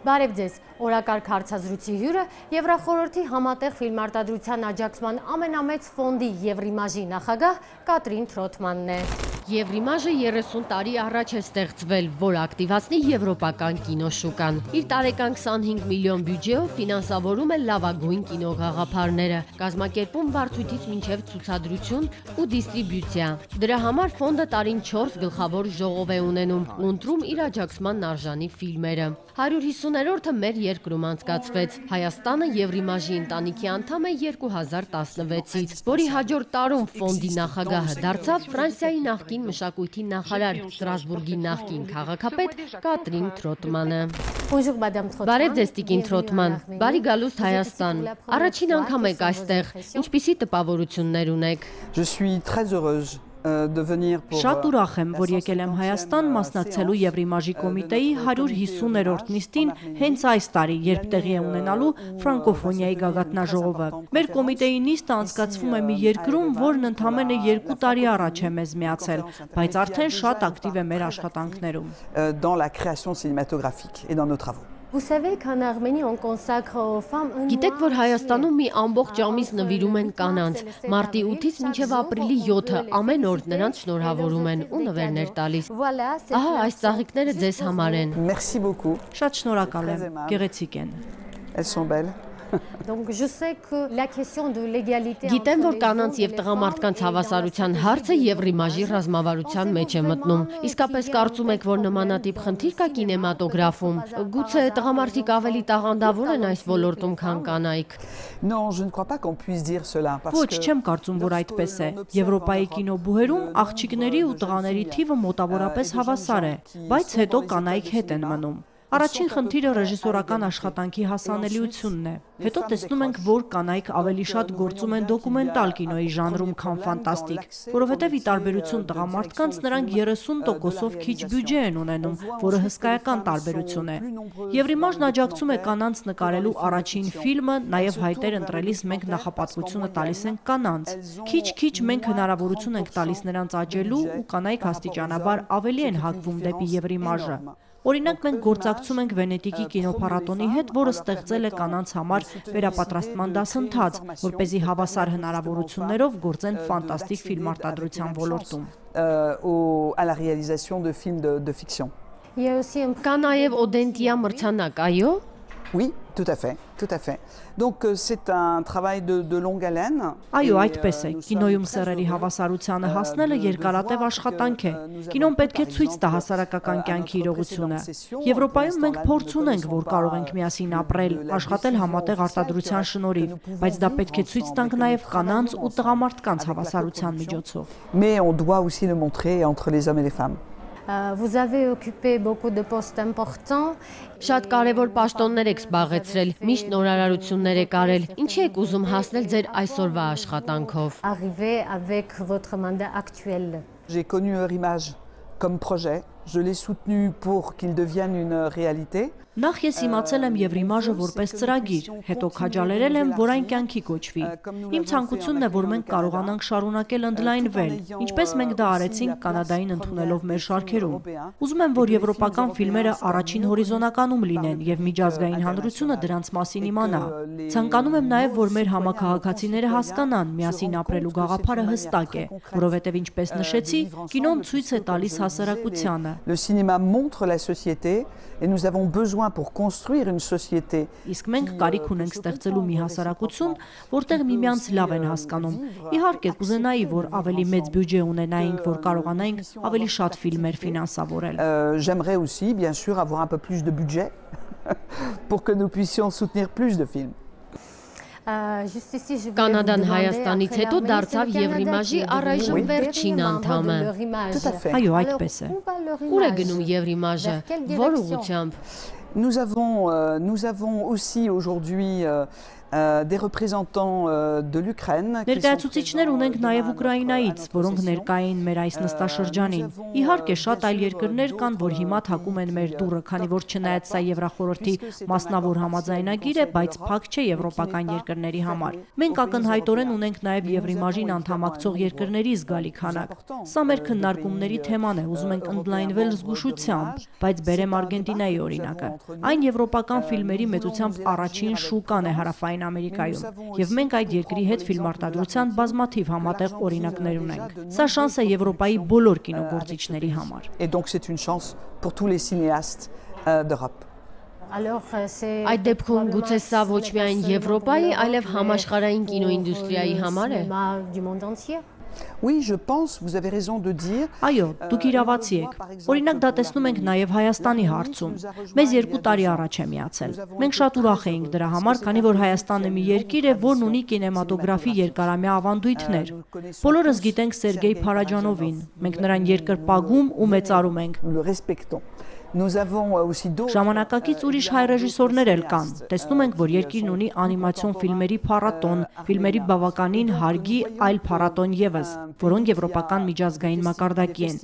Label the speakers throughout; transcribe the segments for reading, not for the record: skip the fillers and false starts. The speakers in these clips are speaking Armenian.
Speaker 1: Բարև ձեզ, օրակարգ հարցազրույցի հյուրը Եվրախորհրդի համատեղ ֆիլմարտադրության աջակցման ամենամեծ ֆոնդի Եվրիմաժի նախագահ Կատրին Թրոթմանն է։ Եվրիմաժը 30 տարի առաջ է ստեղծվել, որ ակտիվացնի եվրոպական կինոշուկան։ Իր տարեկան 25 միլիոն բյուջեով ֆինանսավորում է լավագույն կինոգաղափարները, կազմակերպում վարձույթից մինչև ցուցադրություն ու դիստրիբյուցիա։ Դրա համար ֆոնդը տարին 4 գլխավոր ժողով է ունենում ու ընտրում իր աջակցման արժանի ֆիլմերը։ 150-րդը մեր երկրում անցկացվեց։ Հայաստանը Եվրիմաժի ընտանիքի անդամ է 2016-ից, որի հաջորդ տարում ֆոնդի նախագահը դարձավ Ֆրանսիայի նախկին մշակույթի նախարար, Ստրասբուրգի նախկին քաղաքապետ Կատրին Թրոթմանը։ Բարև ձեզ, Տիկին Թրոթման, բարի գալուստ Հայաստան։ Առաջին անգամ եք այստեղ, ինչպիսի տպավորություններ ունեք։
Speaker 2: Շատ ուրախ եմ, որ եկել եմ Հայաստան մասնակցելու Եվրիմաժի կոմիտեի 150-րդ նիստին հենց այս տարի, երբ տեղի է ունենալու ֆրանկոֆոնիայի գագաթնաժողովը։ Մեր կոմիտեի նիստը անցկացվում է մի երկրում, որն ընդամենը 2 տարի առաջ է մեզ միացել, բայց արդեն շատ ակտիվ է մեր աշխատանքներում։
Speaker 1: Գիտեք, որ Հայաստանում մի ամբողջ ամիս նվիրում են կանանց, մարտի 8-ից մինչև ապրիլի 7-ը ամեն օր նրանց շնորհավորում են ու նվերներ տալիս։ Ահա այս ծաղիկները ձեզ համար են։
Speaker 2: Շատ շնորհակալ եմ, գեղեցիկ են։
Speaker 1: Գիտեմ, որ կանանց և տղամարդկանց հավասարության հարցը Եվրիմաժի ռազմավարության մեջ է մտնում։ Իսկապես կարծում եք, որ նմանատիպ խնդիր կա կինեմատոգրաֆում։ Գուցե տղամարդիկ ավելի տաղանդավոր են այս ոլորտում, քան կանայք։
Speaker 2: Ոչ, չեմ կարծում, որ այդպես է։ Եվրոպայի կինոբուհերում աղջիկների ու տղաների թիվը մոտավորապես հավասար է, բայց հետո կանայք հետ են մնում։ Առաջին խնդիրը ռեժիսորական աշխատանքի հասանելիությունն է։ Հետո տեսնում ենք, որ կանայք ավելի շատ գործում են դոկումենտալ կինոյի ժանրում, քան ֆանտաստիկ, որովհետև ի տարբերություն տղամարդկանց նրանք 30%-ով քիչ բյուջե են ունենում, որը հսկայական տարբերություն է։ Եվրիմաժն աջակցում է կանանց նկարելու առաջին ֆիլմը, նաև հայտեր ընտրելիս մենք նախապատվությունը տալիս ենք կանանց։ Քիչ-քիչ մենք հնարավորություն ենք տալիս նրանց աճելու ու կանայք աստիճանաբար ավելի են հակվում դեպի Եվրիմաժը։ Օրինակ, մենք գործակցում ենք Վենետիկի կինոփառատոնի հետ, որը ստեղծել է կանանց համար վերապատրաստման դասընթաց, որպեսզի հավասար հնարավորություններով գործեն ֆանտաստիկ ֆիլմարտադրության ոլորտում։
Speaker 1: Կա նաև Օդենտիա մրցանակ, այո՞։
Speaker 3: Oui, tout à fait, tout à fait. Donc c'est un travail de longue haleine.
Speaker 2: Այո, այդպես է։ Կինոյում սեռերի հավասարությանը հասնելը երկարատև աշխատանք է։ Կինոն պետք է ցույց տա հասարակական կյանքի իրողությունը։ Եվրոպայում մենք փորձ ունենք, որ կարող ենք միասին ապրել, աշխատել համատեղ արտադրության շնորհիվ, բայց դա պետք է ցույց տանք նաև կանանց ու տղամարդկանց հավասարության միջոցով։
Speaker 3: Mais on doit aussi le montrer entre les hommes et les femmes.
Speaker 1: Vous avez occupé beaucoup de postes importants. Շատ կարևոր պաշտոններ եք զբաղեցրել, միշտ նորարարություններ եք արել։ Ինչի եք ուզում հասնել ձեր այսօրվա աշխատանքով։
Speaker 4: Arriver avec votre mandat actuel.
Speaker 3: J'ai connu Eurimage comme projet. Je l'ai soutenu pour qu'il devienne une réalité.
Speaker 2: Նախ ես իմացել եմ Եվրիմաժը որպես ծրագիր, հետո քաջալերել եմ, որ այն կյանքի կոչվի։ Իմ ցանկությունն է, որ մենք կարողանանք շարունակել ընդլայնվել, ինչպես մենք դա արեցինք Կանադային ընդունելով մեր շարքերում։ Ուզում եմ, որ եվրոպական ֆիլմերը առաջին հորիզոնականում լինեն եւ միջազգային հանրությունը դրանց մասին իմանա։ Ցանկանում եմ նաեւ, որ մեր համակարգացիները հասկանան, միասին ապրելու գաղափարը հստակ է, որովհետեւ ինչպես նշեցի, կինոն ցույց է տալիս հասարակությանը։
Speaker 3: Le cinéma montre la société et nous avons besoin pour construire une société.
Speaker 2: Իսկ մենք կարիք ունենք ստեղծելու մի հասարակություն, որտեղ միմյանց լավ են հասկանում։ Իհարկե, կուզենայի, որ ավելի մեծ բյուջե ունենայինք, որ կարողանայինք ավելի շատ ֆիլմեր ֆինանսավորել։
Speaker 3: J'aimerais aussi, bien sûr, avoir un peu plus de budget pour que nous puissions soutenir plus de films.
Speaker 1: Կանադան Հայաստանից հետո դարձավ Եվրիմաժի առայժմ վերջին անդամը։
Speaker 2: Այո, այդպես է։
Speaker 1: Ուր է գնում Եվրիմաժը, որ ուղղությամբ։
Speaker 3: Nous avons aussi aujourd'hui des représentants de l'Ukraine.
Speaker 2: Ներկայացուցիչներ ունենք նաև Ուկրաինայից, որոնք ներկա էին մեր այս նստաշրջանին։ Իհարկե, շատ այլ երկրներ կան, որ հիմա թակում են մեր դուռը, քանի որ չնայած սա Եվրախորհրդի մասնավոր համաձայնագիր է, բայց փակ չէ եվրոպական երկրների համար։ Մենք ակնհայտորեն ունենք նաև Եվրիմաժին անդամակցող երկրների զգալի քանակ։ Սա մեր քննարկումների թեման է, ուզում ենք ընդլայնվել զգուշությամբ, բայց բերեմ Արգենտինայի օրինակը։ Այն եվրոպական ֆիլմերի մեծությամբ առաջին շուկան է Հարավային Ամերիկայում, եւ մենք այդ երկրի հետ ֆիլմարտադրության բազմաթիվ համատեղ օրինակներ ունենք։ Սա շանս է Եվրոպայի բոլոր կինոգործիչների համար։
Speaker 3: Et donc c'est une chance pour tous les cinéastes d'Europe.
Speaker 1: Այդ դեպքում գուցե սա ոչ միայն Եվրոպայի, այլև համաշխարհային կինոինդուստրիայի համար է։
Speaker 3: Oui, je pense, vous avez raison de dire.
Speaker 2: Այո, դուք իրավացի եք։ Օրինակ դա տեսնում ենք նաև Հայաստանի հարցում։ Մեզ 2 տարի առաջ է միացել։ Մենք շատ ուրախ էինք դրա համար, քանի որ Հայաստանը մի երկիր է, որն ունի կինեմատոգրաֆի երկարամյա ավանդույթներ։ Բոլորս գիտենք Սերգեյ Փարաջանովին։ Մենք նրան երկրպագում ու մեծարում ենք։ Ժամանակակից ուրիշ հայ ռեժիսորներ էլ կան։ Տեսնում ենք, որ երկիրն ունի անիմացիոն ֆիլմերի փառատոն, ֆիլմերի բավականին հարգի այլ փառատոն ևս, որոնք եվրոպական միջազգային մակարդակի են։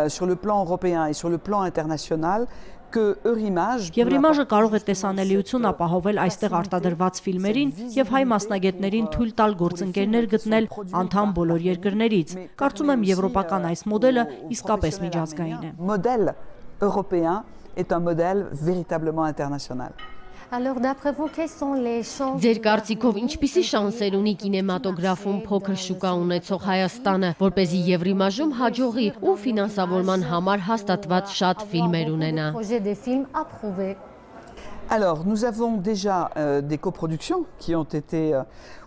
Speaker 3: Sur le plan européen et sur le plan international,
Speaker 2: Եվրիմաժը կարող է տեսանելիություն ապահովել այստեղ արտադրված ֆիլմերին եւ հայ մասնագետներին թույլ տալ գործընկերներ գտնել անդամ բոլոր երկրներից։ Կարծում եմ եվրոպական այս մոդելը իսկապես միջազգային է։
Speaker 3: Modèle européen est un modèle véritablement international.
Speaker 1: Ձեր կարծիքով ինչպիսի շանսեր ունի կինեմատոգրաֆում փոքր շուկա ունեցող Հայաստանը, որպեսզի Եվրիմաժում հաջողի ու ֆինանսավորման համար հաստատված շատ ֆիլմեր ունենա։
Speaker 3: Alors, nous avons déjà des coproductions qui ont été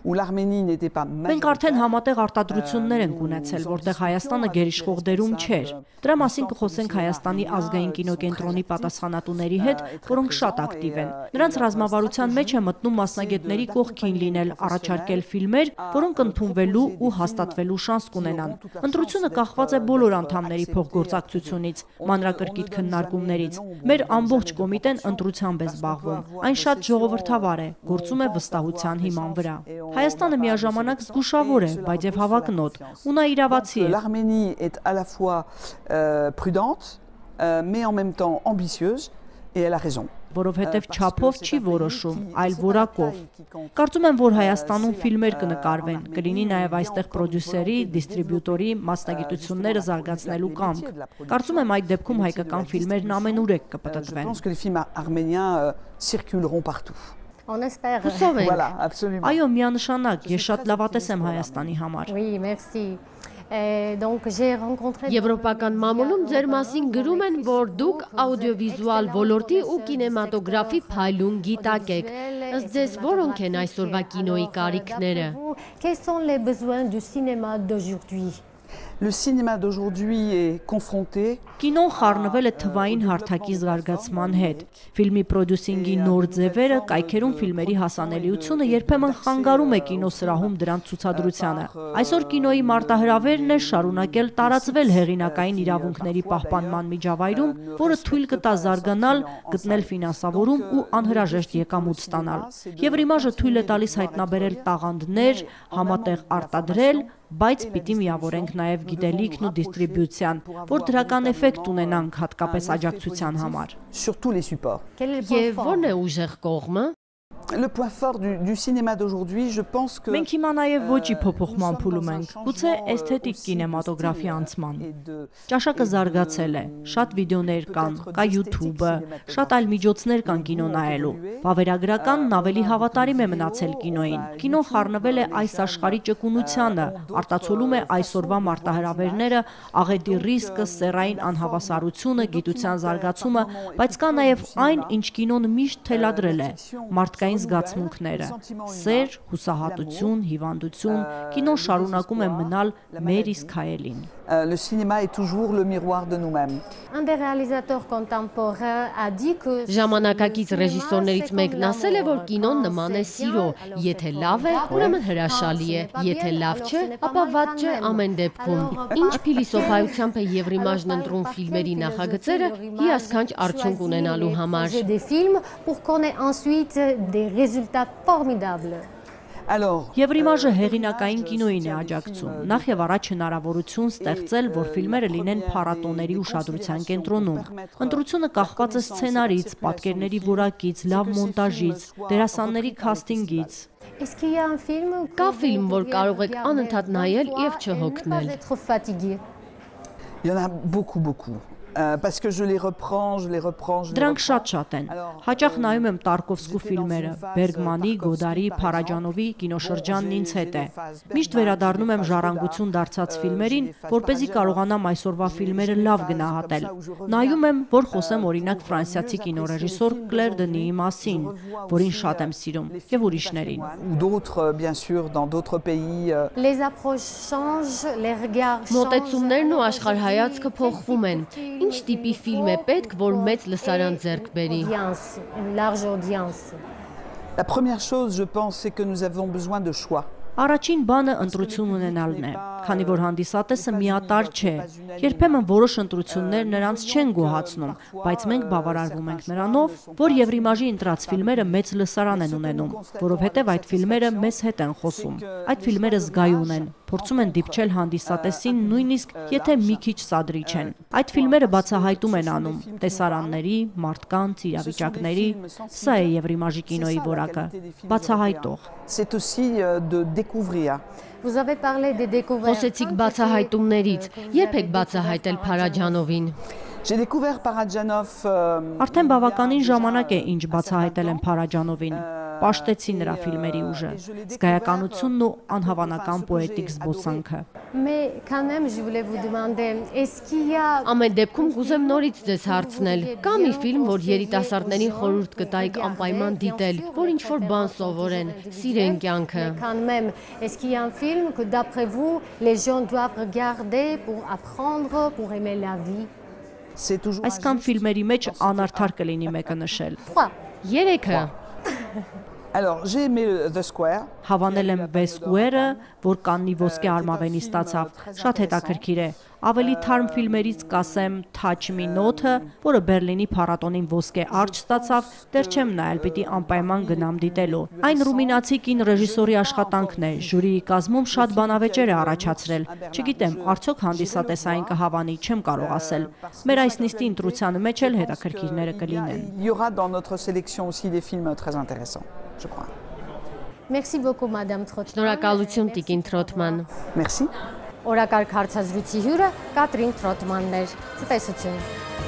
Speaker 3: où l'Arménie n'était pas
Speaker 2: Մենք արդեն համատեղ արտադրություններ ենք ունեցել, որտեղ Հայաստանը գերիշխող դերում չէր։ Դրա մասին կխոսենք Հայաստանի ազգային կինոկենտրոնի պատասխանատուների հետ, որոնք շատ ակտիվ են։ Նրանց ռազմավարության մեջ է մտնում մասնագետների կողքին լինել, առաջարկել ֆիլմեր, որոնք ընդունվելու ու հաստատվելու շանս կունենան։ Ընտրությունը կախված է բոլոր անդամների փոխգործակցությունից, մանրակրկիտ քննարկումներից։ Մեր ամբողջ կոմիտեն ընտրությամբ է զբաղվում։ Այն շատ ժողովրդավար է, գործում է վստահության հիման վրա։ Հայաստանը միաժամանակ զգուշավոր է, բայց եւ հավակնոտ, ու նա իրավացի է։
Speaker 3: L'Arménie est à la fois prudente, mais en même temps ambitieuse, et elle a raison.
Speaker 2: Որովհետև չափով չի որոշում, այլ որակով։ Կարծում եմ, որ Հայաստանում ֆիլմեր կնկարվեն, կլինի նաև այստեղ պրոդյուսերի, դիստրիբյուտորի մասնագիտությունները զարգացնելու կամք։ Կարծում եմ այդ դեպքում հայկական ֆիլմերն ամենուրեք կպտտվեն։
Speaker 3: Je pense que les films arméniens circuleront partout.
Speaker 1: Հուսով ենք։
Speaker 3: Voilà, absolument.
Speaker 2: Այո, միանշանակ, ես շատ լավատես եմ Հայաստանի համար։
Speaker 1: Եվրոպական մամուլում ձեր մասին գրում են, որ դուք աուդիովիզուալ ոլորտի ու կինեմատոգրաֆի փայլուն գիտակ եք։ Ըստ ձեզ որոնք են այսօրվա կինոյի կարիքները։
Speaker 3: Le cinéma d'aujourd'hui est confronté
Speaker 2: Կինոն խառնվել է թվային հարթակի զարգացման հետ։ Ֆիլմի պրոդյուսինգի նոր ձևերը, կայքերում ֆիլմերի հասանելիությունը երբեմն խանգարում է կինոսրահում դրանց ցուցադրությանը։ Այսօր կինոյի մարտահրավերն է շարունակել տարածվել հեղինակային իրավունքների պահպանման միջավայրում, որը թույլ կտա զարգանալ, գտնել ֆինանսավորում ու անհրաժեշտ եկամուտ ստանալ։ Եվրիմաժը թույլ է տալիս հայտնաբերել տաղանդներ, համատեղ արտադրել, բայց պիտի միավորենք նաև գիտելիքն ու դիստրիբյուցիան, որ դրական էֆեկտ ունենանք հատկապես աջակցության համար։
Speaker 3: sur tous les supports.
Speaker 1: Եվ ո՞րն է ուժեղ կողմը։
Speaker 3: Le point fort du cinéma d'aujourd'hui, je pense que
Speaker 2: Մենք հիմա նաև ոճի փոփոխման փուլում ենք, գուցե էսթետիկ կինեմատոգրաֆի անցման։ Ճաշակը զարգացել է, շատ վիդեոներ կան, կա YouTube-ը, շատ այլ միջոցներ կան կինո նայելու։ Վավերագրականն ավելի հավատարիմ է մնացել կինոյին։ Կինոն խառնվել է այս աշխարհի ճկունությանը, արտացոլում է այսօրվա մարտահրավերները, աղետի ռիսկը, սեռային անհավասարությունը, գիտության զարգացումը, բայց կա նաև այն, ինչ կինոն միշտ թելադրել է՝ մարդկային զգացմունքները, սեր, հուսահատություն, հիվանդություն, կինոն շարունակում է մնալ մեր իսկ հայելին։
Speaker 3: le cinéma est toujours le miroir de nous-mêmes.
Speaker 1: Ժամանակակից ռեժիսորներից մեկն ասել է, որ կինոն նման է սիրո, եթե լավ է, ուրեմն հրաշալի է, եթե լավ չէ, ապա վատ չէ ամեն դեպքում։ Ինչ փիլիսոփայությամբ է Եվրիմաժն ընտրում ֆիլմերի նախագծերը հիասքանչ արդյունք ունենալու համար։
Speaker 2: Եվրիմաժը հեղինակային կինոյին է աջակցում, նախ եւ առաջ հնարավորություն ստեղծել, որ ֆիլմերը լինեն փառատոների ուշադրության կենտրոնում։ Ընտրությունը կախված է սցենարից, պատկերների որակից, լավ մոնտաժից, դերասանների քասթինգից։
Speaker 1: Կա ֆիլմ, որ կարող եք անընդհատ նայել եւ չհոգնել։
Speaker 3: Il y en a beaucoup. Parce que je les reprends.
Speaker 2: Դրանք շատ են։ Հաճախ նայում եմ Տարկովսկու ֆիլմերը, Բերգմանի, Գոդարի, Փարաջանովի կինոշրջանն ինձ հետ է։ Միշտ վերադառնում եմ ժառանգություն դարձած ֆիլմերին, որպեսզի կարողանամ այսօրվա ֆիլմերը լավ գնահատել։ Նայում եմ, որ խոսեմ օրինակ ֆրանսիացի կինոռեժիսոր Կլեր Դնիի մասին, որին շատ եմ սիրում, եւ ուրիշներին։
Speaker 3: D'autres, bien sûr, dans d'autres pays.
Speaker 4: Les approches changent, les regards changent.
Speaker 1: Մոտեցումներն ու աշխարհայացքը փոխվում են։ Ինչ տիպի ֆիլմ է պետք, որ մեծ լսարան ձեռք բերի։
Speaker 4: Une large audience.
Speaker 3: La première chose, je pense, c'est que nous avons besoin de choix.
Speaker 2: Առաջին բանը ընտրություն ունենալն է, քանի որ հանդիսատեսը միատարր չէ։ Երբեմն որոշ ընտրություններ նրանց չեն գոհացնում, բայց մենք բավարարվում ենք նրանով, որ Եվրիմաժի ընտրած ֆիլմերը մեծ լսարան են ունենում, որովհետև այդ ֆիլմերը մեզ հետ են խոսում։ Այդ ֆիլմերը զգայուն են, փորձում են դիպչել հանդիսատեսին, նույնիսկ եթե մի քիչ սադրիչ են։ Այդ ֆիլմերը բացահայտում են անում տեսարանների, մարդկանց, իրավիճակների, սա է Եվրիմաժի կինոյի որակը, բացահայտող։
Speaker 3: C'est aussi de découvrir.
Speaker 4: Vous avez parlé des découvertes.
Speaker 1: Խոսեցիք բացահայտումներից։ Երբ եք բացահայտել Փարաջանովին։
Speaker 3: J'ai découvert Parajanov.
Speaker 2: Արդեն բավականին ժամանակ է, ինչ բացահայտել եմ Փարաջանովին։ Պաշտեցի նրա ֆիլմերի ուժը, զգայականությունն ու անհավանական պոետիկ զբոսանքը։
Speaker 4: Mais quand même, je voulais vous demander, est-ce qu'il y a
Speaker 1: Ամեն դեպքում կուզեմ նորից ձեզ հարցնել։ Կա մի ֆիլմ, որ երիտասարդներին խորհուրդ կտայիք անպայման դիտել, որ ինչ-որ բան սովորեն, սիրեն կյանքը։
Speaker 4: quand même, est-ce qu'il y a un film que d'après vous, les gens doivent regarder pour apprendre, pour aimer la vie?
Speaker 3: C'est toujours.
Speaker 2: Այսքան ֆիլմերի մեջ անարդար կլինի մեկը նշել։
Speaker 4: 3.
Speaker 1: Երեքը։
Speaker 3: Alors, j'ai aimé The Square.
Speaker 2: Հավանել եմ Վեսկուերը, որ Կաննի ոսկե արմավենի ստացավ, շատ հետաքրքիր է։ Ավելի թարմ ֆիլմերից կասեմ Touch Me Not-ը, որը Բերլինի փառատոնին ոսկե արջ ստացավ, դեռ չեմ նայել, պիտի անպայման գնամ դիտելու։ Այն ռումինացի կին ռեժիսորի աշխատանքն է, ժյուրիի կազմում շատ բանավեճեր է առաջացրել։ Չգիտեմ, արդյոք հանդիսատեսային կհավանի, չեմ կարող ասել։ Մեր այս նիստի ընտրության մեջ էլ հետաքրքիրները կլինեն։
Speaker 3: Il y aura dans notre sélection aussi des films très intéressants, je crois.
Speaker 4: Merci beaucoup, Madame Trotman.
Speaker 1: Շնորհակալություն Տիկին Թրոթման։
Speaker 3: Merci.
Speaker 4: Օրակարգ հարցազրույցի հյուրը Կատրին Թրոթմանն էր։ Ցտեսություն։